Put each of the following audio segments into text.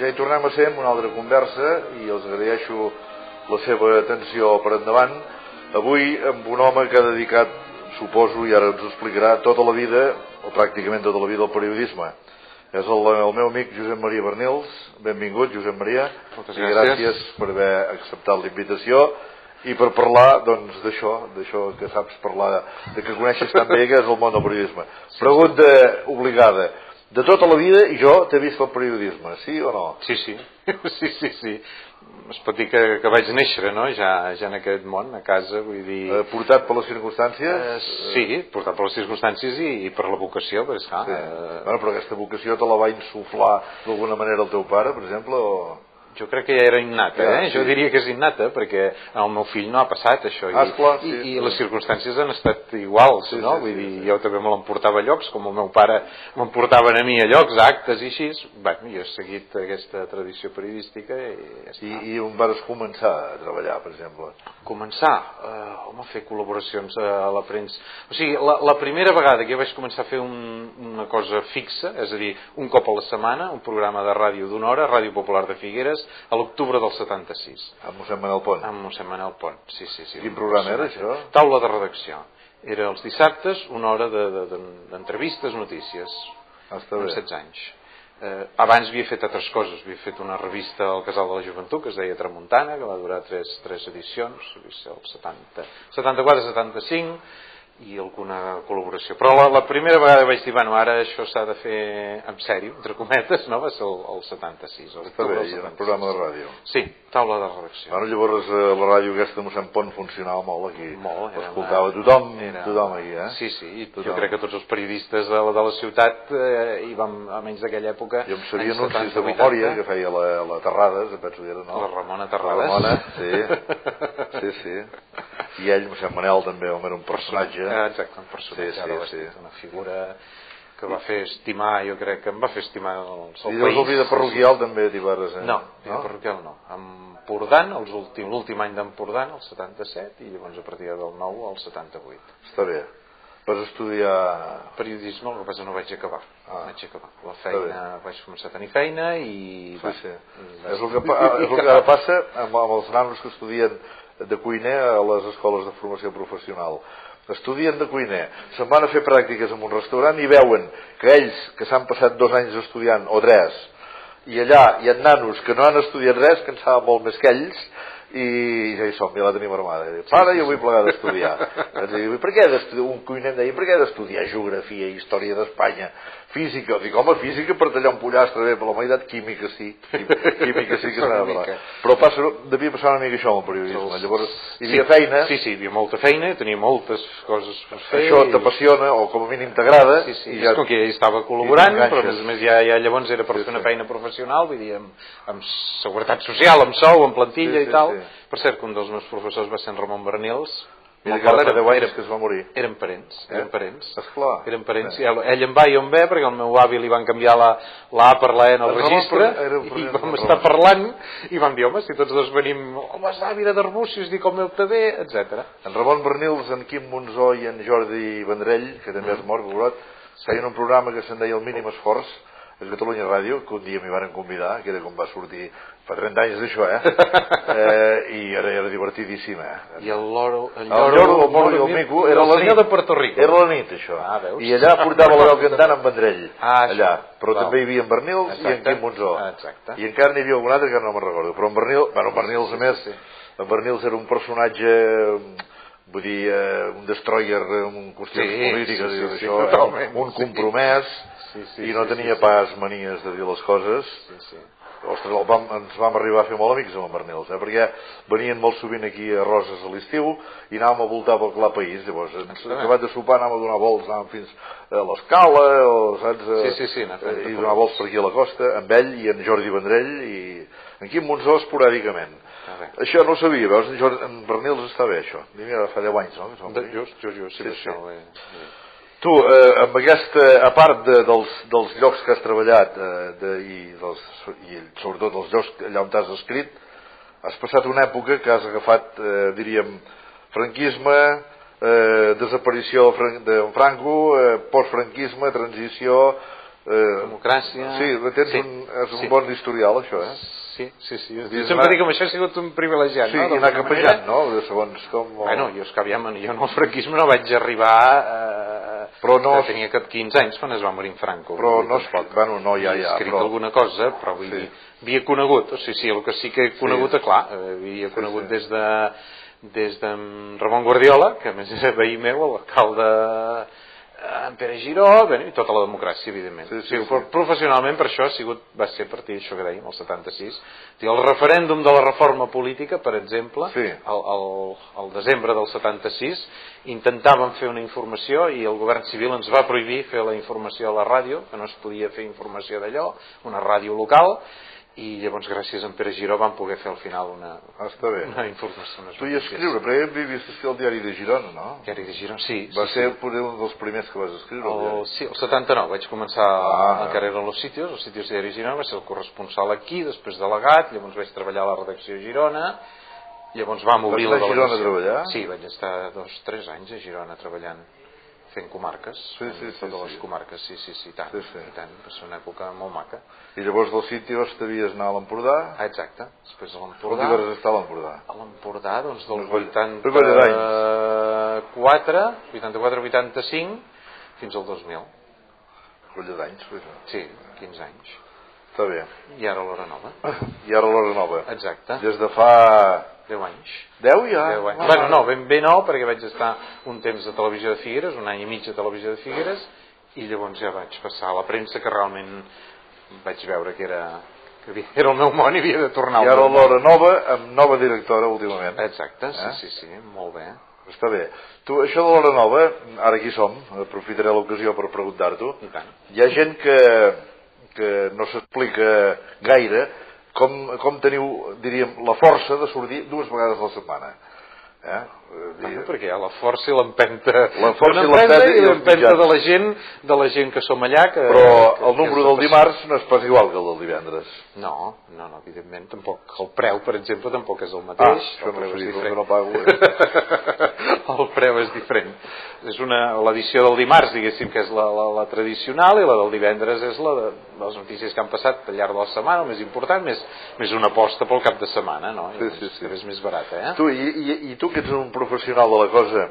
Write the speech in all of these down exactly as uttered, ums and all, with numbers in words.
ja hi tornem a ser amb una altra conversa i els agraeixo la seva atenció per endavant. Avui amb un home que ha dedicat, suposo, i ara ens ho explicarà, tota la vida, o pràcticament tota la vida, al periodisme. És el, el meu amic Josep Maria Bernils. Benvingut, Josep Maria. Moltes gràcies. I gràcies per haver acceptat la invitació i per parlar, doncs, d'això, d'això que saps parlar, de que coneixes tan bé, que és el món del periodisme. Pregunta obligada. De tota la vida, i jo t'he vist el periodisme, sí o no? Sí, sí, sí, sí, sí. Es pot dir que, que vaig néixer, no?, ja, ja en aquest món, a casa, vull dir... Eh, portat per les circumstàncies? Eh, sí, portat per les circumstàncies i, i per la vocació, perquè esclar... Sí. Eh... Bueno, però aquesta vocació te la va insuflar d'alguna manera el teu pare, per exemple, o...? Jo crec que ja era innata, eh? Sí. Jo diria que és innata, perquè el meu fill no ha passat això, ah, i, esclar, sí, i, sí. i les circumstàncies han estat iguals, sí, no? Sí, Vull sí, dir, sí. jo també me l'emportava a llocs, com el meu pare m'emportaven a mi a llocs, a actes i així. Bueno, jo he seguit aquesta tradició periodística i ja està. I, i on vas començar a treballar, per exemple? Començar? Uh, home, fer col·laboracions a la premsa. O sigui, la, la primera vegada que jo vaig començar a fer un, una cosa fixa, és a dir, un cop a la setmana, un programa de ràdio d'una hora, Ràdio Popular de Figueres, a l'octubre del setanta-sis. Amb mossèn Manel Pont? Amb mossèn Manel Pont, sí, sí, sí. Quin programa era això? Taula de redacció. Era els dissabtes, una hora d'entrevistes, de, de, notícies. Ah, està bé. Amb setze anys. Eh, abans havia fet altres coses. Havia fet una revista al Casal de la Joventut que es deia Tramuntana, que va durar tres, tres edicions, el setanta, setanta-quatre setanta-cinc, i alguna col·laboració. Però la, la primera vegada vaig dir, bueno, ara això s'ha de fer en sèrio, entre cometes, no? Va ser el, el setanta-sis. El Està bé, i era un programa de ràdio. Sí, taula de redacció. Bueno, llavors la ràdio aquesta de mossèn Pont funcionava molt aquí. Molt. L'escoltava tothom, era... tothom aquí, eh? Sí, sí, i tothom. Jo crec que tots els periodistes de la, de la ciutat eh, hi vam, almenys d'aquella època... Jo em sabia anuncis de memòria que feia la, la Terrades, penso que era, no? La Ramona Terrades. La Ramona, sí. Sí, sí. I ell, mossèn Manel, també, home, era un personatge. Exacte, un personatge, sí, sí, sí. Una figura que va fer estimar, jo crec que em va fer estimar el seu país. I llavors el vida parroquial també t'hi vas... Eh? No, vida no? parroquial no. Empordant, l'últim any d'Empordant, el setanta-set, i llavors a partir del nou al setanta-vuit. Està bé. Vas estudiar... Periodisme, el que passa no vaig acabar. Ah, vaig acabar. La feina, vaig començar a tenir feina i... Sí, sí. És el que, és el que ara passa amb, amb els nanos que estudien de cuiner a les escoles de formació professional. Estudien de cuiner, se'n van a fer pràctiques en un restaurant i veuen que ells, que s'han passat dos anys estudiant, o tres, i allà hi ha nanos que no han estudiat res, que en saben molt més que ells, i ja hi som, ja la tenim armada. Pare, jo vull plegar d'estudiar. Per què d'estudiar? Un cuiner em deia, per què d'estudiar geografia, història d'Espanya, física? Dic, home, física per tallar un pollastre, bé, per la meitat, química sí. Química sí que s'ha de parlar. Però passa, devia passar una mica això amb el periodisme. Llavors, hi havia feina. Sí, sí, hi havia molta feina, tenia moltes coses per fer. Això t'apassiona, o com a mínim t'agrada. Sí, sí, és com que ja estava col·laborant, però a més a més ja, ja llavors era per fer una feina professional, vull dir, amb, amb seguretat social, amb sou, amb plantilla i tal. Per cert, que un dels meus professors va ser en Ramon Bernils. Mira que ara fa deu anys que es va morir. Eren parents, eren parents. Esclar. Eren parents. Ell, ell em va i jo em ve, perquè el meu avi li van canviar la, la A per la E en el registre, i vam estar parlant, i vam dir, home, si tots dos venim, home, és avi de Darbúcies, dic el meu també, etcètera. En Ramon Bernils, en Quim Monzó i en Jordi Vendrell, que també és mort, veurot, feien un programa que se'n deia El mínim esforç, a Catalunya Ràdio, que un dia m'hi van convidar, que era com va sortir fa trenta anys d'això, eh? eh I era, era divertidíssim, eh? I el loro, el lloro, el moro i el mico, era la nit. de Puerto Rico. Era la nit, això. Ah, veus? I allà portava la veu cantant en Vendrell. Ah, allà. Però val. també hi havia en Bernils i en Quim Monzó. Exacte. I encara n'hi havia algun altre que no me'n recordo. Però en Bernils, bueno, en Bernils, a més, en Bernils era un personatge... vull dir, eh, un destroyer en qüestions sí, polítiques sí, i sí, això, sí, un compromès sí, sí, i no sí, tenia sí, pas manies de dir les coses. Sí, sí. Ostres, el vam, ens vam arribar a fer molt amics amb en Bernils, eh, perquè venien molt sovint aquí a Roses a l'estiu i anàvem a voltar pel clar país. Llavors, acabat de sopar anàvem a donar volts, anàvem fins a l'Escala, o, saps, a, sí, sí, sí, i donar volts per aquí a la costa, amb ell i en Jordi Vendrell i en Quim Monzó esporàdicament. Ah, això no ho sabia, veus, en, Jordi, en Bernils està bé, això. Mira, fa deu anys, no? De, just, just, just, sí, sí, això. Sí. Eh, Tu, eh, amb aquesta, a part de, dels, dels llocs que has treballat eh, de, i, dels, i sobretot dels llocs allà on t'has escrit, has passat una època que has agafat, eh, diríem, franquisme, eh, desaparició de Franco, eh, postfranquisme, transició, democràcia... Sí, tens un, és un bon historial, això, eh? Sí, sí, sí. Jo sempre dic que amb això he sigut un privilegiat, sí, no? Sí, i anar capejant, no? De segons com... Bueno, jo és que aviam, jo en el franquisme no vaig arribar... Eh, però no... Tenia cap quinze anys quan es va morir en Franco. Però no es pot, bueno, no, ja, ja... He escrit però... alguna cosa, però vull dir, havia conegut, o sigui, sí, el que sí que he conegut, sí. Clar, havia conegut sí, sí. des de... des de Ramon Guardiola, que a més és veí meu, l'alcalde en Pere Giró, bé, i tota la democràcia, evidentment. Sí, sí, sí, sí. Professionalment, per això, ha sigut, va ser a partir d'això que dèiem, el setanta-sis. El referèndum de la reforma política, per exemple, sí. el, el, el desembre del setanta-sis, intentàvem fer una informació i el govern civil ens va prohibir fer la informació a la ràdio, que no es podia fer informació d'allò, una ràdio local, i llavors gràcies a en Pere Giró vam poder fer al final una, ah, està bé. una informació. Tu hi escriure, perquè hem vist que el diari de Girona, no? El diari de Girona, sí. Va sí, ser sí. poder un dels primers que vas escriure. El, el sí, el setanta-nou vaig començar ah, encara eren los sitios, els sitios de diari Girona, vaig ser el corresponsal aquí, després delegat, llavors vaig treballar a la redacció a Girona, llavors vam obrir la delegació. Vas anar a Girona a treballar? Sí, vaig estar dos, tres anys a Girona treballant. Fent comarques, sí, sí, sí, totes sí. les comarques, sí, sí, sí, tant, sí, sí. I tant, va ser una època molt maca. I llavors del Sitios t'havies anar a l'Empordà? Ah, exacte, després a l'Empordà. On vas estar a l'Empordà? A l'Empordà, doncs del vuitanta-quatre, vuitanta-quatre vuitanta-cinc fins al dos mil. Colla d'anys, pues. Sí, quinze anys. Està bé. I ara l'Hora Nova. I ara l'Hora Nova. Exacte. Des de fa... deu anys. Deu ja? Deu anys. Ah, bueno, no, ben bé no, perquè vaig estar un temps a Televisió de Figueres, un any i mig a Televisió de Figueres, i llavors ja vaig passar a la premsa, que realment vaig veure que era, que era el meu món i havia de tornar al món. I ara l'Hora Nova, amb nova directora últimament. Exacte, sí, eh? sí, sí, molt bé. Està bé. Tu, això de l'Hora Nova, ara aquí som, aprofitaré l'ocasió per preguntar-t'ho. I tant. Hi ha gent que, que no s'explica gaire Com, com teniu, diríem, la força de sortir dues vegades a la setmana. Eh? Bueno, perquè hi ha la força i l'empenta la força i l'empenta i l'empenta de la gent de la gent que som allà que, però que, el número del dimarts no és pas igual que el del divendres. No, no, no, evidentment tampoc. El preu, per exemple, tampoc és el mateix. Ah, això el preu no és diferent. No pago, eh? El preu és diferent. És una l'edició del dimarts, diguéssim, que és la, la, la tradicional, i la del divendres és la de les notícies que han passat al llarg de la setmana, el més important, més, més una aposta pel cap de setmana, no? I sí, sí, sí. És més barata, eh? Tu, i, i, i tu que ets un professional de la cosa,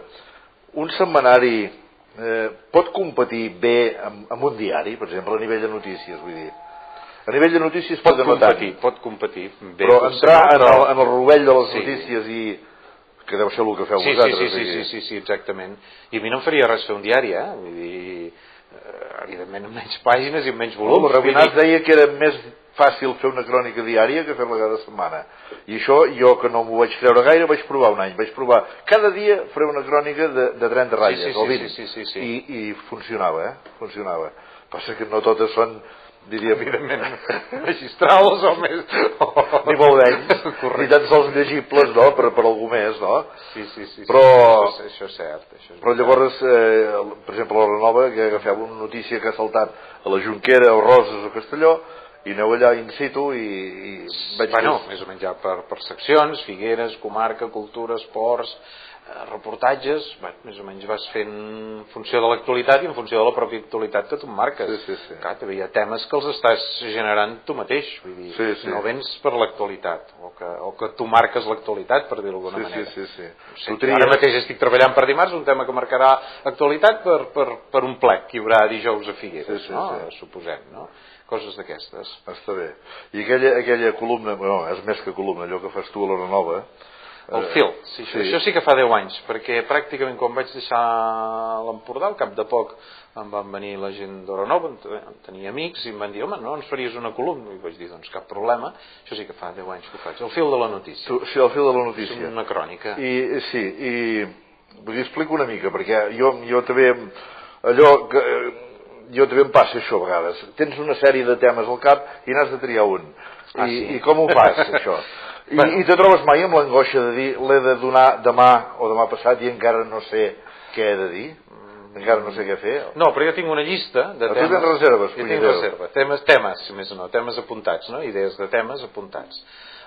un setmanari eh, pot competir bé amb, amb un diari, per exemple, a nivell de notícies, vull dir? A nivell de notícies pot, pot competir, pot competir bé, però entrar no, però... En, el, en el rovell de les sí. notícies i que deu ser el que feu sí, vosaltres. Sí, sí, sí, sí, sí, sí, exactament. I a mi no em faria res fer un diari, eh? Vull dir, eh, evidentment amb menys pàgines i amb menys volums. El Rabinat deia que era més fàcil fer una crònica diària que fer-la cada setmana. I això, jo que no m'ho vaig creure gaire, vaig provar un any. Vaig provar cada dia fer una crònica de, de trenta ratlles, sí, sí, o vint. Sí, sí, sí, sí. I, I funcionava, eh? Funcionava. Passa que no totes són, diríem, evidentment, magistrals o més... O... ni molt menys, ni tan sols llegibles, no?, per, per algú més, no? Sí, sí, sí. Però, sí, això, és, això és cert. Això és però llavors, eh, per exemple, a l'Hora Nova, que agafeu una notícia que ha saltat a la Jonquera, o Roses o Castelló, i aneu allà in situ i... i veig bueno, més... més o menys ja per, per seccions, Figueres, comarca, cultura, esports, eh, reportatges, bueno, més o menys vas fent en funció de l'actualitat i en funció de la pròpia actualitat que tu marques. Sí, sí, sí. Clar, hi ha temes que els estàs generant tu mateix, vull dir, sí, sí. no vens per l'actualitat, o que, o que tu marques l'actualitat, per dir-ho d'alguna sí, manera. Sí, sí, sí. sí tries... Ara mateix estic treballant per dimarts un tema que marcarà actualitat per, per, per un plec que hi haurà dijous a Figueres, sí, sí, no? Sí. Suposem, no? Coses d'aquestes. Està bé. I aquella, aquella columna, no, és més que columna, allò que fas tu a l'Hora Nova... El fil, sí, sí. Això sí que fa deu anys, perquè pràcticament quan vaig deixar l'Empordà, al cap de poc em van venir la gent d'Hora Nova, tenia amics, i em van dir, home, no ens faries una columna? I vaig dir, doncs cap problema, això sí que fa deu anys que ho faig. El fil de la notícia. Tu, sí, el fil de la notícia. És una crònica. I, sí, i vull dir, explico una mica, perquè jo, jo també, allò que... jo també em passa això a vegades. Tens una sèrie de temes al cap i n'has de triar un. Ah, I, sí? I com ho fas, això? I, bueno. I te trobes mai amb l'angoixa de dir l'he de donar demà o demà passat i encara no sé què he de dir? Encara no sé què fer? No, però jo tinc una llista de temes... temes... Tu tens reserves, jo tinc reserva. Temes, temes, més o no, temes apuntats, no? Idees de temes apuntats.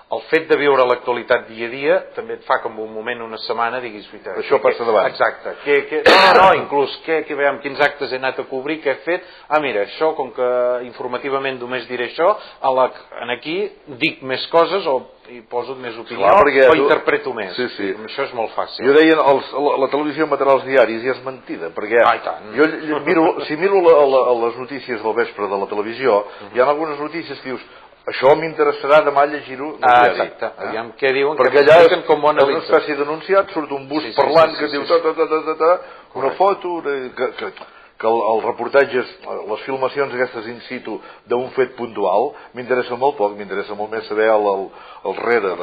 el fet de viure l'actualitat dia a dia també et fa com un moment, una setmana, diguis... Això passa davant. Exacte. Que, que, no, no, inclús, que, que veiem quins actes he anat a cobrir, què he fet... Ah, mira, això, com que informativament només diré això, a la, en aquí dic més coses o hi poso més opinió. Clar, o tu... interpreto més. Sí, sí. Això és molt fàcil. Jo deia, els, la, la televisió emetrà els diaris i és mentida, perquè ah, tant. jo miro, si miro la, la, les notícies del vespre de la televisió, uh-huh. hi ha algunes notícies que dius, això m'interessarà demà llegir-ho al ah, diari. Exacte, eh? Aviam què diuen, perquè que allà és, com ho és una espècie d'anunciat, surt un bus sí, sí, parlant sí, sí, que sí, diu ta, ta, ta, ta, ta, ta, una foto, que, que, que el, el reportatges, les filmacions aquestes in situ d'un fet puntual, m'interessa molt poc, m'interessa molt més saber el, el, el rere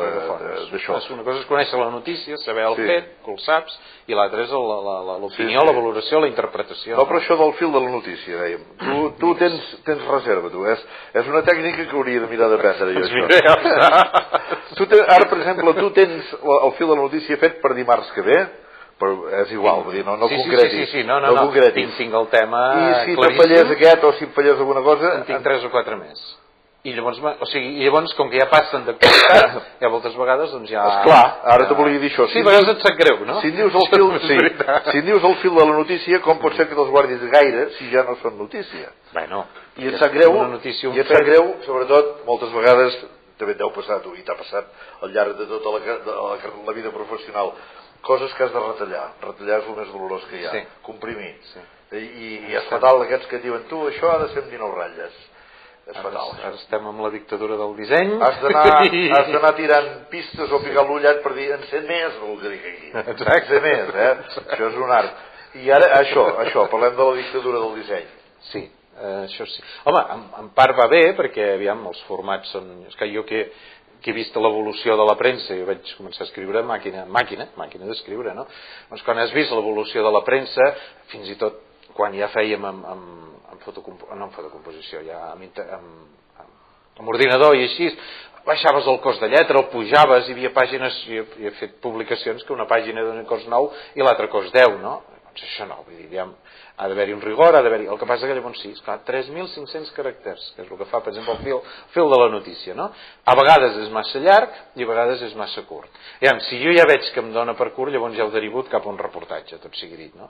d'això. Una cosa és conèixer la notícia, saber el sí. fet, que el saps, i l'altra és l'opinió, sí, sí. la valoració, la interpretació. No, però això del fil de la notícia, dèiem. Tu, tu tens, tens reserva, tu. És, és una tècnica que hauria de mirar d'aprendre jo, això. tu ten, ara, per exemple, tu tens el fil de la notícia fet per dimarts que ve, però és igual, vull dir, no, no sí, concretis. Sí, sí, sí, no, no, no, no. Tinc, tinc el tema I si te fallés aquest o si em fallés alguna cosa... En tinc tres o quatre més. I llavors, o sigui, i llavors com que ja passen d'actualitat, ja moltes vegades, doncs ja... Esclar, ara te volia dir això. Sí, a vegades et sap greu, no? Si em dius el fil, sí, si em dius el fil de la notícia, com pot ser que te'ls guardis gaire si ja no són notícia? Bueno, I et sap greu, notícia, i et sap greu, sobretot, moltes vegades, també et deu passar tu, i t'ha passat al llarg de tota la, de la, la vida professional, coses que has de retallar. Retallar és el més dolorós que hi ha. Sí. Comprimir. Sí. I, i és fatal aquests que diuen, tu, això ha de ser amb dinou ratlles. És ara, fatal. Ara estem amb la dictadura del disseny. Has d'anar tirant pistes o picar l'ullet per dir, en sé més, el que dic aquí. Exacte. En sé més, eh? Això és un art. I ara, això, això, parlem de la dictadura del disseny. Sí, eh, això sí. Home, en, en part va bé, perquè, aviam, els formats són... És que jo que... que he vist l'evolució de la premsa, jo vaig començar a escriure màquina, màquina, màquina d'escriure, no? Doncs quan has vist l'evolució de la premsa, fins i tot quan ja fèiem amb, amb, amb, fotocomp... no amb fotocomposició, ja amb, amb, amb, amb ordinador i així, baixaves el cost de lletra, el pujaves, hi havia pàgines, jo he fet publicacions que una pàgina dona cost nou i l'altra cost deu, no? Doncs això no, vull dir, aviam, ha d'haver-hi un rigor, ha d'haver-hi... El que passa que llavors sí, esclar, tres mil cinc-cents caràcters, que és el que fa, per exemple, el fil, fil de la notícia, no? A vegades és massa llarg i a vegades és massa curt. Aviam, si jo ja veig que em dona per curt, llavors ja ho derivo cap a un reportatge, tot sigui dit, no?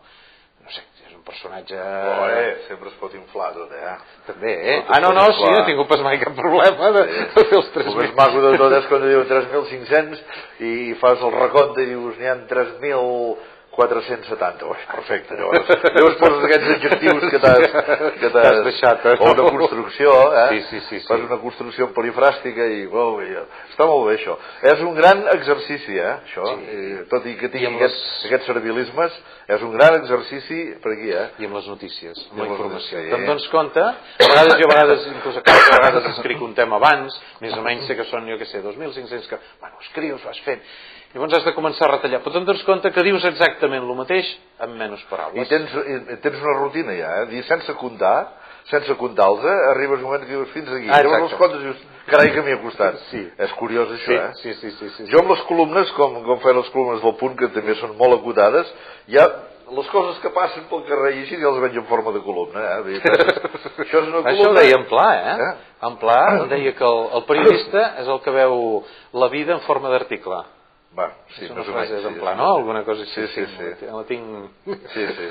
No sé, és un personatge... Oh, eh, sempre es pot inflar tot, eh? També, eh? Ah, no, no, sí, no he tingut pas mai cap problema de, sí. de fer els tres mil. El més maco de tot és quan diuen tres mil cinc-cents i fas el recompte i dius n'hi ha tres mil quatre-cents setanta, oh, perfecte, llavors, llavors poses aquests adjectius que t'has deixat, eh? O una construcció, eh? Sí, sí, sí, sí. Fas una construcció polifràstica i, oh, i està molt bé això. És un gran exercici, eh, això, sí. I, tot i que tingui I aquests, les... aquests servilismes, és un gran exercici per aquí, eh? I amb les notícies, amb I la informació. Sí. Te'n dones compte, a vegades jo a vegades, inclús a cada vegades escric un tema abans, més o menys sé que són, jo què sé, dos mil cinc-cents que, bueno, escrius, ho has fet. Llavors has de començar a retallar, però te'n dones compte que dius exactament el mateix amb menys paraules. I tens, i tens una rutina ja, eh? Dir, sense comptar, sense comptar-los, eh? Arribes un moment que dius fins aquí. Ah, llavors els comptes i dius, carai que m'hi ha costat. Sí. És curiós això, sí, eh? Sí, sí, sí, sí, jo amb les columnes, com, com feien les columnes del Punt, que també són molt acotades, ja les coses que passen pel carrer i així ja les veig en forma de columna, eh? Dir, això és una columna... Això ho deia en Pla, eh? eh? En Pla deia que el, el periodista és el que veu la vida en forma d'article. Va, sí, és una frase d'en Pla, no? Alguna cosa així. Sí, sí, sí. La tinc... Sí, sí.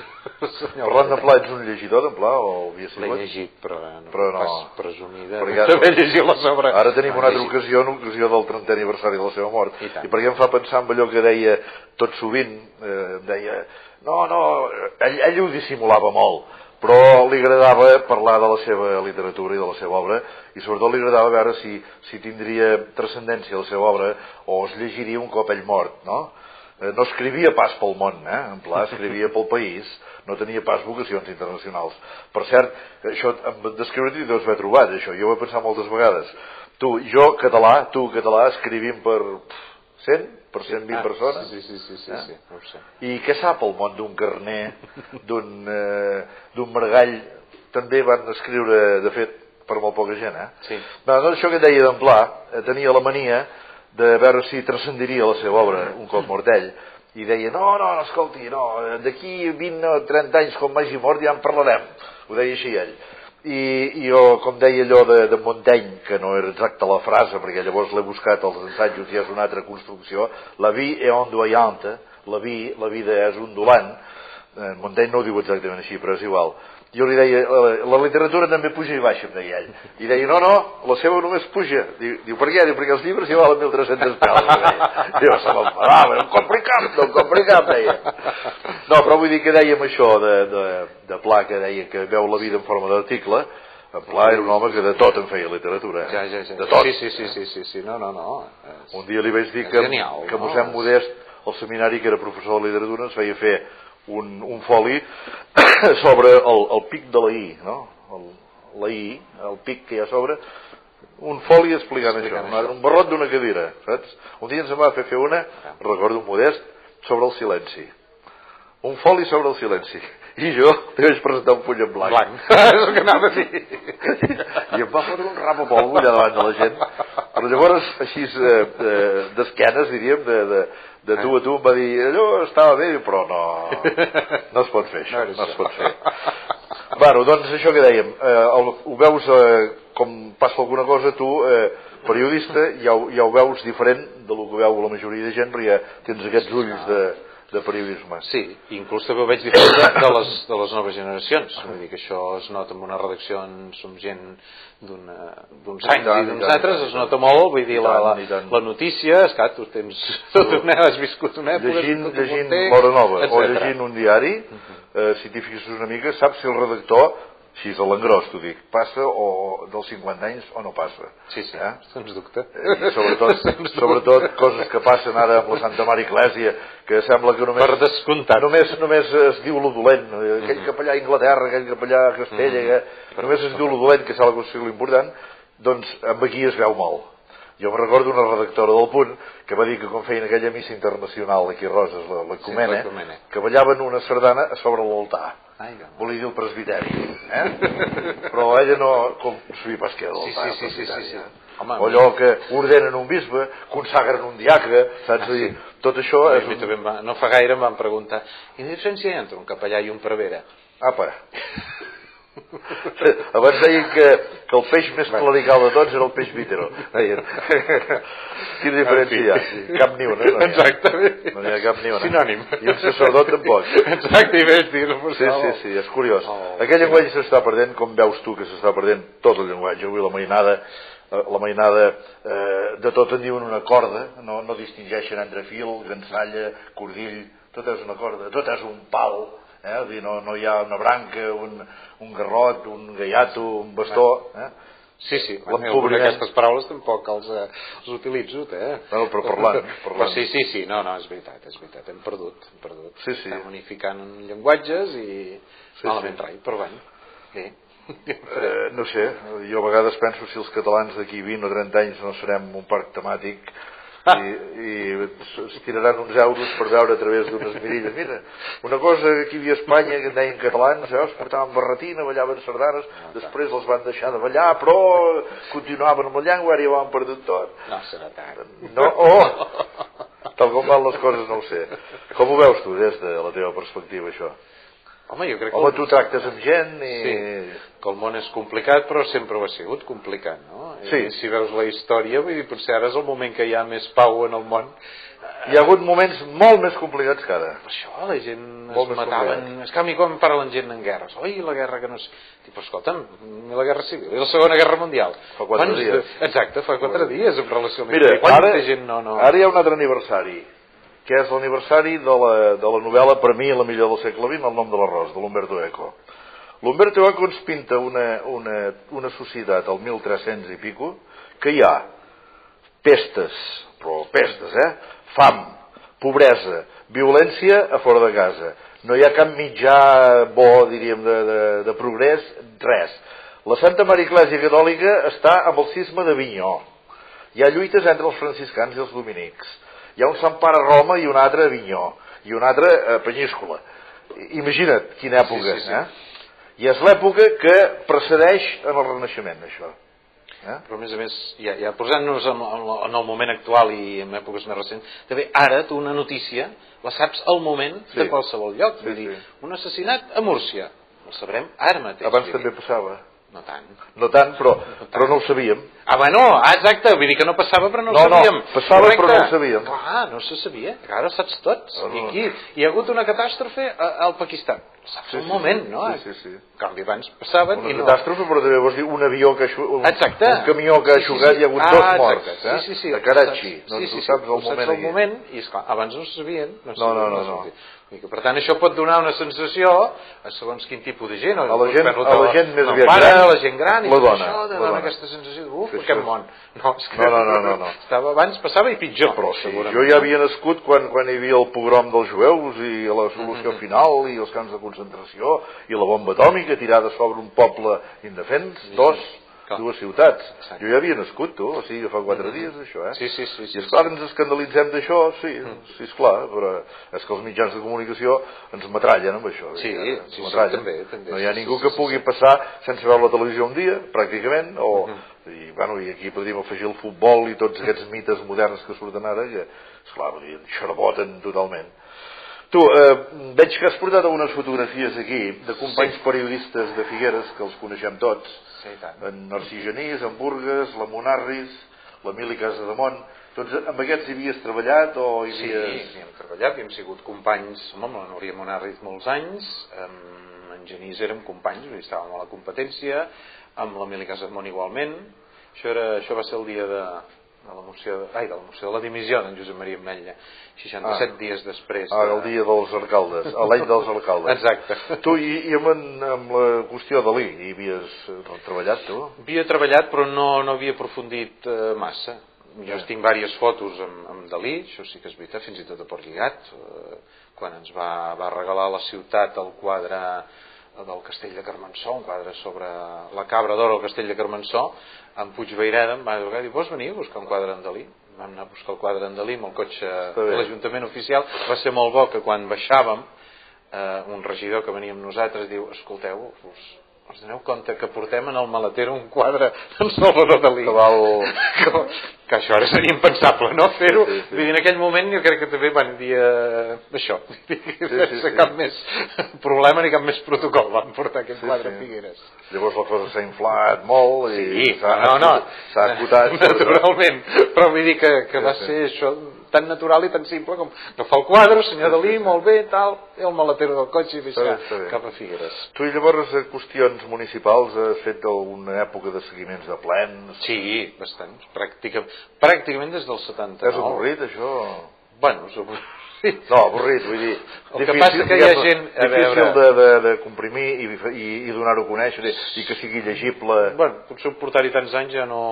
Parlant de Pla, ets un llegidor d'en Pla o havia sigut? L'he llegit, però no, però no. pas presumida perquè d'haver llegit la sobre. Ara tenim una altra ocasió, en ocasió del trentè aniversari de la seva mort. I, I perquè em fa pensar en allò que deia tot sovint, eh, deia, no, no, ell, ell ho dissimulava molt, però li agradava parlar de la seva literatura i de la seva obra, i sobretot li agradava veure si, si tindria transcendència la seva obra o es llegiria un cop ell mort, no? No escrivia pas pel món, eh? En Pla escrivia pel país, no tenia pas vocacions internacionals. Per cert, això d'escriure-t'hi deus haver trobat, això, jo ho he pensat moltes vegades. Tu, jo, català, tu, català, escrivim per cent, per cent vint ah, persones. Sí, sí, sí, sí, eh? sí, no ho sé. I què sap el món d'un Carner, d'un eh, d'un Margall? També van escriure, de fet, per molt poca gent, eh? Sí. No, doncs això que deia d'en Pla, eh, tenia la mania de veure si transcendiria la seva obra un cop mort ell, i deia, no, no, no, escolti, no, d'aquí vint o trenta anys, com m'hagi mort, ja en parlarem. Ho deia així ell. I, i jo, com deia allò de, de Montaigne, que no era exacta la frase, perquè llavors l'he buscat als ensajos i és una altra construcció, la vie est ondoyante, la, vi, la vida és ondulant. eh, Montaigne no ho diu exactament així, però és igual. Jo li deia, la, la literatura també puja i baixa, em deia ell. I deia, no, no, la seva només puja. Diu, diu per què? Diu, perquè els llibres hi valen mil tres-centes peles. Diu, se m'enfadava, no em compri cap, no em compri cap, deia. No, però vull dir que dèiem això de, de, de Pla, que deia que veu la vida en forma d'article. En Pla era un home que de tot en feia literatura. Ja, ja, ja. De tot. Sí, sí, sí, sí, sí, sí. No, no, no. És... Un dia li vaig dir que, genial, que no? mossèn Modest, al seminari, que era professor de literatura, ens feia fer un, un foli sobre el, el pic de la I, no? El, la I, el pic que hi ha sobre, un foli explicant, explicant això, això, un barrot d'una cadira, saps? Un dia ens en va fer fer una, recordo un Modest, sobre el silenci. Un foli sobre el silenci. I jo li vaig presentar un full en blanc. Blanc, és el que anava a dir. I em va fotre un rap a polvo allà davant de la gent. Però llavors, així eh, d'esquenes, diríem, de, de, de tu a tu, em va dir, allò estava bé, però no, no es pot fer això, no, no es pot fer. Bueno, doncs això que dèiem, eh, el, ho veus, eh, com passa alguna cosa, tu, eh, periodista, ja ho, ja ho veus diferent de lo que veu la majoria de gent, perquè ja tens aquests ulls de... de periodisme. Sí, inclús també ho veig diferent de, de, les, de les noves generacions. Vull dir que això es nota en una redacció, som gent d'uns anys i d'uns altres, es nota molt, vull dir, la, la, la notícia, esclar, tu tens tot una, has viscut una època, llegint, llegint l'Hora Nova o llegint un diari, eh, si t'hi fixes una mica, saps si el redactor, així és a l'engròs, t'ho dic, passa o dels cinquanta anys o no passa. Sí, sí, eh? sens dubte. I sobretot, sobretot coses que passen ara amb la Santa Mare Eclèsia, que sembla que només... Per descomptat. Només, només es diu lo dolent, aquell capellà a Anglaterra, aquell capellà a Castella, que només es diu lo dolent, que sembla que és l'important, doncs amb aquí es veu molt. Jo em recordo una redactora del Punt que va dir que quan feien aquella missa internacional aquí a Roses, l'Ecumene, sí, que ballaven una sardana a sobre l'altar. Volia dir el presbiteri, eh? Però ella no... com sabia pas què era l'altar, sí, sí, sí, sí, sí. Home, o allò que ordenen un bisbe, consagren un diacre, saps? Ah, sí. Tot això és un... va, no fa gaire em van preguntar, quina diferència hi ha entre un capellà i un prevere? Apa. Abans deien que, que el peix més clerical de tots era el peix vítero. Quina diferència hi ha? Cap ni una. No Exactament. No n'hi ha cap ni una. Sinònim. I un sacerdot tampoc. Exacte, i ves dir-ho. Sí, sí, sí, és curiós. Oh, Aquell llenguatge s'està perdent, com veus tu que s'està perdent tot el llenguatge. Avui la mainada, la mainada eh, de tot en diuen una corda, no, no distingeixen entre fil, gansalla, cordill, tot és una corda, tot és un pal. Eh? Dir, no, no hi ha una branca, un, un garrot, un gaiato, un bastó. Eh? Sí, sí, alguna d'aquestes paraules tampoc els, eh, els utilitzo, eh? No, però parlant, parlant. Però sí, sí, sí, no, no, és veritat, és veritat, hem perdut, hem perdut. Sí, sí. Estem unificant llenguatges i sí, malament sí. rai, però bé. Sí. Eh, no sé, jo a vegades penso si els catalans d'aquí vint o trenta anys no serem un parc temàtic i, i es tiraran uns euros per veure a través d'unes mirilles. Mira, una cosa que aquí hi havia a Espanya que en deien catalans, eh, es portaven barretina, ballaven sardanes, després els van deixar de ballar, però continuaven amb la llengua, ara ja ho han perdut tot. No serà tant. No, oh, tal com van les coses no ho sé. Com ho veus tu des de la teva perspectiva això? Home, jo crec que... Home, tu tractes amb gent i... Sí, que el món és complicat, però sempre ho ha sigut complicat, no? Sí. I si veus la història, vull dir, potser ara és el moment que hi ha més pau en el món. Hi ha hagut moments molt més complicats que ara. Per això, la gent molt es mataven... És que a mi quan parlen gent en guerres, oi, la guerra que no és... Però escolta'm, la guerra civil i la segona guerra mundial. Fa quatre Quants... dies. Exacte, fa quatre dies en relació amb... Mira, ara, gent no, no... ara hi ha un altre aniversari, que és l'aniversari de, la, de la novel·la, per mi, la millor del segle vint, El nom de l'arròs, de l'Umberto Eco. L'Umberto Eco ens pinta una, una, una societat al mil tres-cents i pico, que hi ha pestes, però pestes, eh? Fam, pobresa, violència a fora de casa. No hi ha cap mitjà bo, diríem, de, de, de progrés, res. La Santa Mare Eclèsia Catòlica està amb el cisma d'Avinyó. Hi ha lluites entre els franciscans i els dominics. Hi ha un Sant Pare a Roma i un altre a Avinyó, i un altre a Penyíscola. Imagina't quina època, sí, sí, sí. eh? I és l'època que precedeix en el Renaixement, això. Eh? Però a més a més, ja, ja posant-nos en, en el moment actual i en èpoques més recents, també ara tu una notícia la saps al moment sí. de qualsevol lloc. Sí, Vull dir, sí. un assassinat a Múrcia, el sabrem ara mateix. Abans també passava. No tant. No tant, però, però no ho sabíem. Ah, bueno, ah, exacte, vull dir que no passava però no ho no, sabíem. No, passava Correcte. Però no ho sabíem. Clar, no se sabia, que ara ho saps tots. No, no. I aquí hi ha hagut una catàstrofe al Pakistan. Saps sí, un sí, moment, no? Sí, sí, sí. En canvi, abans passaven una i no... Una catàstrofe, però també vols dir un avió que ha xugat, un, exacte. un camió que ha sí, xugat, sí, sí. hi ha hagut ah, dos morts, exacte. eh? Sí, sí, sí. De Karachi. Sí, no, sí, sí, ho saps al ho moment, saps al moment i, esclar, abans no ho sabien. No, no, no, no. no. Per tant, això pot donar una sensació a segons quin tipus de gent. A la gent, a la gent més aviat gran, a la gent gran, i la dona. Això de donar aquesta sensació d'uf, aquest món. No, és que no, no, no, no, no. Estava, abans passava i pitjor. Però sí, jo ja havia nascut quan, quan hi havia el pogrom dels jueus i la solució mm -hmm. final i els camps de concentració i la bomba atòmica tirada sobre un poble indefens, sí, dos, sí. dues ciutats. Exacte. Jo ja havia nascut, tu, o sigui, fa quatre mm -hmm. dies, això, eh? Sí, sí, sí. sí I esclar, sí. ens escandalitzem d'això, sí, mm. sí, esclar, però és que els mitjans de comunicació ens metrallen amb això. Sí, eh? sí, sí, també, també. No hi ha sí, ningú sí, que sí, pugui sí. passar sense veure la televisió un dia, pràcticament, o... Mm -hmm. I, bueno, i aquí podríem afegir el futbol i tots aquests mites moderns que surten ara, que, esclar, xarboten totalment. Tu, eh, veig que has portat algunes fotografies aquí de companys sí. periodistes de Figueres, que els coneixem tots, sí, tant. en Narcís Genís, en Burgues, la Monarris, l'Emili Casademont. Tots amb aquests hi havies treballat o hi havies... Sí, hi hem treballat, hi hem sigut companys, home, amb la Núria Monarris molts anys, amb en Genís érem companys, estàvem a la competència, amb l'Emili Casademont igualment. Això, era, això va ser el dia de, de la moció de, ai, de la moció de la dimissió d'en Josep Maria Ametlla, seixanta-set ah. dies després de... Ah, el dia dels alcaldes, l'any dels alcaldes. Exacte. Tu, i, i amb, amb la qüestió de l'I, hi havies treballat, tu? Havia treballat, però no, no havia aprofundit eh, massa. Jo ja. tinc diverses fotos amb, amb Dalí, això sí que és veritat, fins i tot a Port Lligat, eh, quan ens va, va regalar a la ciutat el quadre del Castell de Carmençó, un quadre sobre la cabra d'or al Castell de Carmençó, en Puigveireda em va trucar i dir, vols venir a buscar un quadre en Dalí? Vam anar a buscar el quadre en Dalí amb el cotxe de l'Ajuntament oficial. Va ser molt bo que quan baixàvem, eh, un regidor que venia amb nosaltres diu, escolteu, us, us doneu compte que portem en el maletero un quadre d'en Salvador Dalí. Que val... que, que això ara seria impensable, no? Fer-ho. Sí, sí, sí. En aquell moment jo crec que també van dir eh, això, sí, sí, sí. cap més problema ni cap més protocol, van portar aquest sí, quadre sí. a Figueres. Llavors la cosa s'ha inflat molt i sí, s'ha no, no, acotat. Naturalment, però vull dir que, que va sí, ser sí. això tan natural i tan simple com agafar el quadre, senyor sí, Dalí, sí, sí. molt bé, tal, i el maletero del cotxe i baixar cap a Figueres. Tu llavors a qüestions municipals has fet alguna època de seguiments de plens? Sí, bastants, pràcticament, pràcticament des del setanta-nou. És avorrit això? Bueno, és avorrit. No, avorrit, vull dir, el difícil, que passa que hi ha gent a difícil veure... de, de, de comprimir i, i, i donar-ho a conèixer i que sigui llegible. Bueno, potser portar-hi tants anys ja no...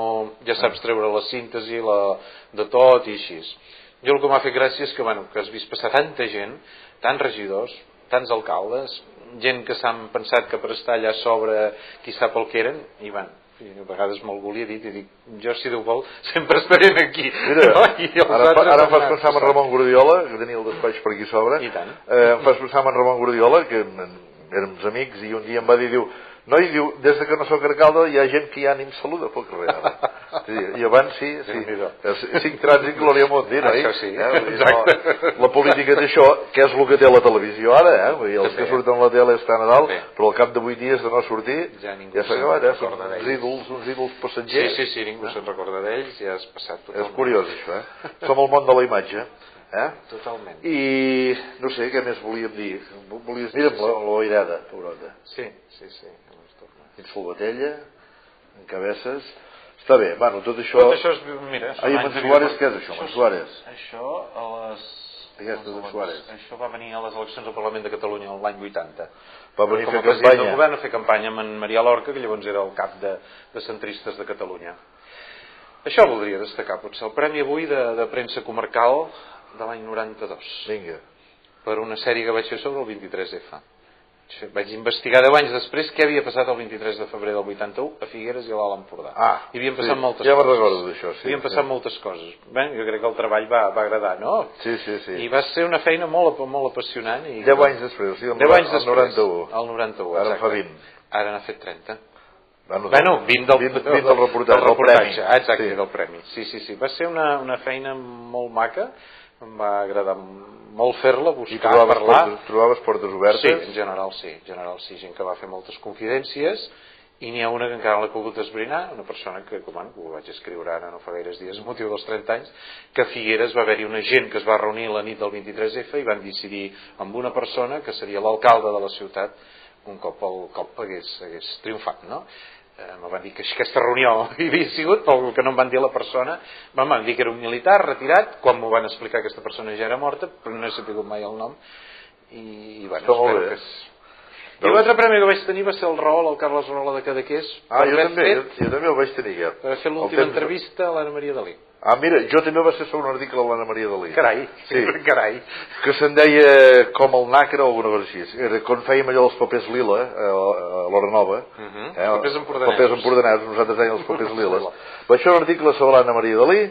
ja saps treure la síntesi la, de tot i així. Jo el que m'ha fet gràcia és que, bueno, que has vist passar tanta gent, tants regidors, tants alcaldes, gent que s'han pensat que per estar allà sobre qui sap el que eren, i van, a vegades me'l volia dir i dic, jo si Déu vol sempre estaré aquí. Mira, no? I ara, ara em fas pensar en Ramon Guardiola, que tenia el despatx per aquí sobre. I tant. Eh, em fas pensar en Ramon Guardiola, que érem amics, i un dia em va dir, diu, noi, diu, des de que no sóc alcalde hi ha gent que ja ni em saluda pel carrer ara. I abans sí, sí. Cinc trànsit glòria Montdir, oi? Això sí, eh? exacte. No, la política d'això, que és el que té la televisió ara, eh? Vull dir, els que surten a la tele estan a dalt, però al cap de vuit dies de no sortir ja, ja s'ha acabat, eh? Són uns ídols, uns ídols passatgers. Sí, sí, sí, ningú se'n recorda d'ells, ja has passat totalment. És curiós això, eh? Som al món de la imatge. Eh? Totalment. I no sé, què més volíem dir? Volies dir amb la, la Oirada, Eurota. Sí, sí, sí. Ets Folbatella, en Cabesses. Està bé, bueno, tot això... Tot això és... Mira, Ai, en Suárez, què és això, en Suárez? Això a les... Aquestes de Suárez. Això va venir a les eleccions al Parlament de Catalunya l'any vuitanta. Va venir a fer campanya. Com a president del govern a fer campanya amb en Marià Lorca, que llavors era el cap de, de centristes de Catalunya. Això voldria destacar, potser el premi avui de, de premsa comarcal de l'any noranta-dos. Vinga. Per una sèrie que vaig fer sobre el vint-i-tres efa. Vaig investigar deu anys després què havia passat el vint-i-tres de febrer del vuitanta-u a Figueres i a l'Alt Empordà. Ah, hi havien passat sí, moltes ja coses. Ja me'n recordo d'això, sí. Hi havien passat sí. moltes coses. Bé, jo crec que el treball va, va agradar, no? Sí, sí, sí. I va ser una feina molt, molt apassionant. I deu anys després, o sigui, el, anys el noranta-u. El noranta-u, ara exacte. fa vint. Ara n'ha fet trenta. Bueno, bueno vint del, vint, vint del reportatge, del reportatge. Del ah, exacte, sí. del premi. Sí, sí, sí. Va ser una, una feina molt maca. Em va agradar molt fer-la, buscar, I trobaves parlar. Portes, trobaves portes obertes? Sí, en general sí, en general sí, gent que va fer moltes confidències i n'hi ha una que encara l'he pogut esbrinar, una persona que, com bueno, ho vaig escriure ara no fa gaires dies, a motiu dels trenta anys, que a Figueres va haver-hi una gent que es va reunir la nit del vint-i-tres efa i van decidir amb una persona que seria l'alcalde de la ciutat un cop el cop hagués, hagués triomfat, no? Eh, me van dir que aquesta reunió hi havia sigut, pel que no em van dir a la persona, em van dir que era un militar retirat, quan m'ho van explicar aquesta persona ja era morta, però no he sapigut mai el nom, i, i bueno, espero que és... I l'altre premi que vaig tenir va ser el Raol, el Carles Rahola de Cadaqués. Ah, jo també, fet, jo, jo també el vaig tenir aquest. Per haver fet l'última entrevista a l'Anna Maria Dalí. Ah, mira, jo també va ser sobre un article a l'Anna Maria Dalí. Carai, sí. Carai. Que se'n deia com el nàquer o alguna cosa així. Era quan fèiem allò dels papers lila, a l'Hora Nova. Uh -huh. eh, papers empordanats. Papers empordanats, nosaltres dèiem els papers liles. Vaig fer un article sobre l'Anna Maria Dalí,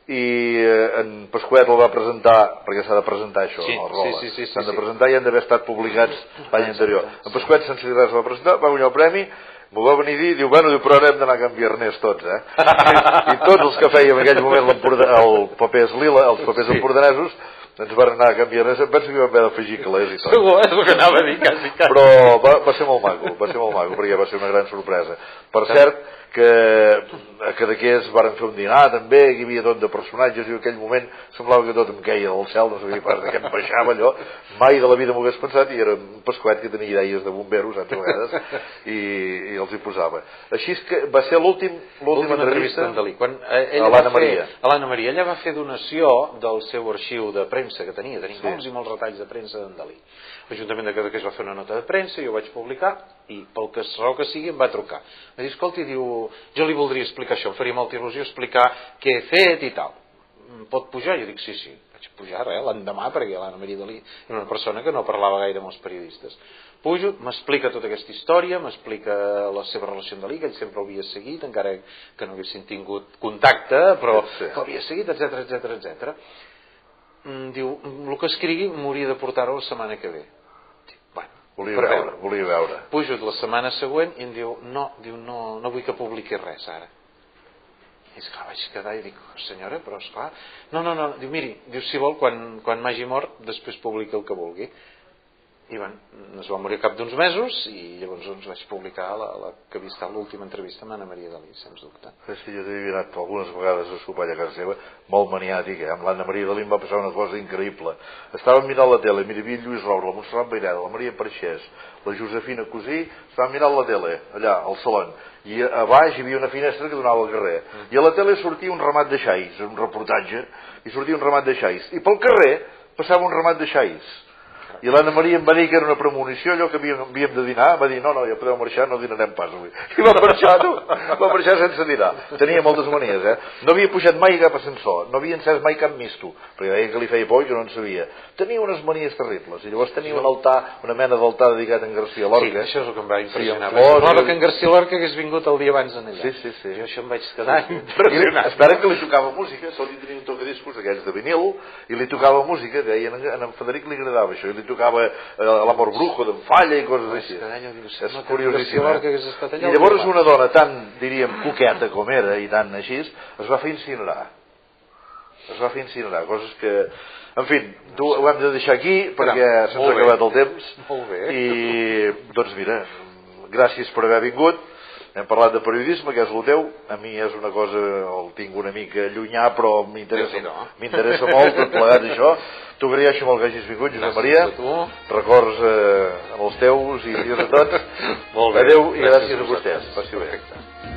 i eh, en Pasquet el va presentar, perquè s'ha de presentar això, sí, no? El sí, sí, sí, s'han sí, de presentar i han d'haver estat publicats l'any anterior. En Pasquet sense dir res el va presentar, va guanyar el premi, m'ho va venir a dir, diu, bueno, diu, però ara hem d'anar a Can Viernès tots, eh? I, i tots els que fèiem en aquell moment el papers lila, els papers sí. empordanesos, ens van anar a Can Viernès, em penso que vam haver d'afegir calés i tot. Segur, és el que anava a dir, quasi, quasi. Però va, va ser molt maco, va ser molt maco, perquè va ser una gran sorpresa. Per cert, que a Cadaqués varen fer un dinar també, hi havia tot de personatges i en aquell moment semblava que tot em queia del cel, no sabia pas de què em baixava allò, mai de la vida m'ho hagués pensat, i era un Pasquet que tenia idees de bomberos a vegades i, i els hi posava. Així és que va ser l'última entrevista en Dalí, quan eh, a l'Anna Maria. A l'Anna Maria ella va fer donació del seu arxiu de premsa que tenia, tenia sí. molts i molts retalls de premsa d'en Dalí. L'Ajuntament de Cadaqués va fer una nota de premsa, jo ho vaig publicar i pel que raó que sigui em va trucar. Va dir, escolta, diu, jo li voldria explicar això, em faria molta il·lusió explicar què he fet i tal. Pot pujar? Jo dic, sí, sí. Vaig pujar, eh, l'endemà, perquè l'Anna Maria Dalí era una persona que no parlava gaire amb els periodistes. Pujo, m'explica tota aquesta història, m'explica la seva relació amb Dalí, que ell sempre l'havia seguit, encara que no haguessin tingut contacte, però sí. que l'havia seguit, etcètera, etcètera, etcètera. Diu, el que escrigui m'hauria de portar-ho la setmana que ve. Volia veure, volia veure. Pujo la setmana següent i em diu, no, diu, no, no vull que publiqui res ara. I esclar, vaig quedar i dic, senyora, però esclar, no, no, no, diu, miri, diu, si vol, quan, quan m'hagi mort, després publiqui el que vulgui. I bueno, es va morir cap d'uns mesos i llavors doncs, vaig publicar la, la que havia estat l'última entrevista amb Anna Maria Dalí, sens dubte. Sí, jo t'he anat algunes vegades a sopar a casa seva, molt maniàtic, eh? Amb l'Anna Maria Dalí em va passar una cosa increïble. Estàvem mirant la tele, mira, hi havia Lluís Roure, la Montserrat Baireda, la Maria Parxés, la Josefina Cosí, estàvem mirant la tele, allà, al salon, i a baix hi havia una finestra que donava al carrer, mm. i a la tele sortia un ramat de xais, un reportatge, i sortia un ramat de xais, i pel carrer passava un ramat de xais. I l'Anna Maria em va dir que era una premonició, allò que havíem, havíem de dinar, va dir, no, no, ja podeu marxar, no dinarem pas avui. I va marxar, tu, va marxar sense dinar. Tenia moltes manies, eh? No havia pujat mai cap ascensor, no havia encès mai cap misto, perquè deia que li feia por i que no en sabia. Tenia unes manies terribles, i llavors tenia un altar, una mena d'altar dedicat a en García Lorca. Sí, això és el que em va impressionar. Semblava que en García Lorca hagués vingut el dia abans en allà. Sí, sí, sí. Jo això em vaig quedar impressionat. Espera que li tocava música, sol tenia un tocadiscos d'aquells de vinil, i li tocava música, deia, a en Federic li agradava això, i li tocava l'Amor Brujo d'en Falla i coses així. És curiosíssim. I llavors una dona tan, diríem, coqueta com era i tan així, es va fer incinerar. Es va fer incinerar, coses que... En fi, ho hem de deixar aquí perquè se'ns ha acabat el temps. Molt bé. I, doncs mira, gràcies per haver vingut. Hem parlat de periodisme, que és el teu. A mi és una cosa, el tinc una mica llunyà, però m'interessa m'interessa molt tot plegat això. T'ho agraeixo molt que hagis vingut, Josep Maria. Records eh, amb els teus i dies a tots. Molt bé. Adéu i gràcies a vostès. Passi bé.